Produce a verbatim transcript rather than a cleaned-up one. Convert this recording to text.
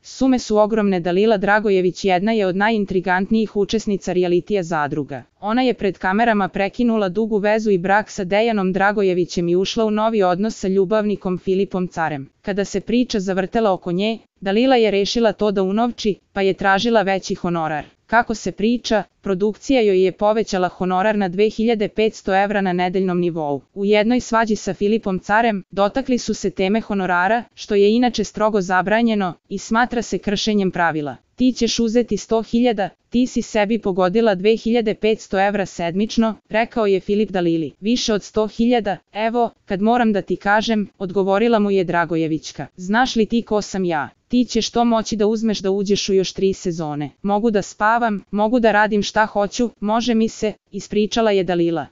Sume su ogromne. Dalila Dragojević jedna je od najintrigantnijih učesnica realitija Zadruga. Ona je pred kamerama prekinula dugu vezu i brak sa Dejanom Dragojevićem i ušla u novi odnos sa ljubavnikom Filipom Carem. Kada se priča zavrtela oko nje, Dalila je rešila to da unovči, pa je tražila veći honorar. Kako se priča, produkcija joj je povećala honorar na dve hiljade petsto evra na nedeljnom nivou. U jednoj svađi sa Filipom Carem dotakli su se teme honorara, što je inače strogo zabranjeno i smatra se kršenjem pravila. Ti ćeš uzeti sto hiljada, ti si sebi pogodila dve hiljade petsto evra sedmično, rekao je Filip Dalili. Više od sto hiljada, evo, kad moram da ti kažem, odgovorila mu je Dragojevićka. Znaš li ti ko sam ja? Ti ćeš to moći da uzmeš da uđeš u još tri sezone. Mogu da spavam, mogu da radim šta hoću, može mi se, ispričala je Dalila.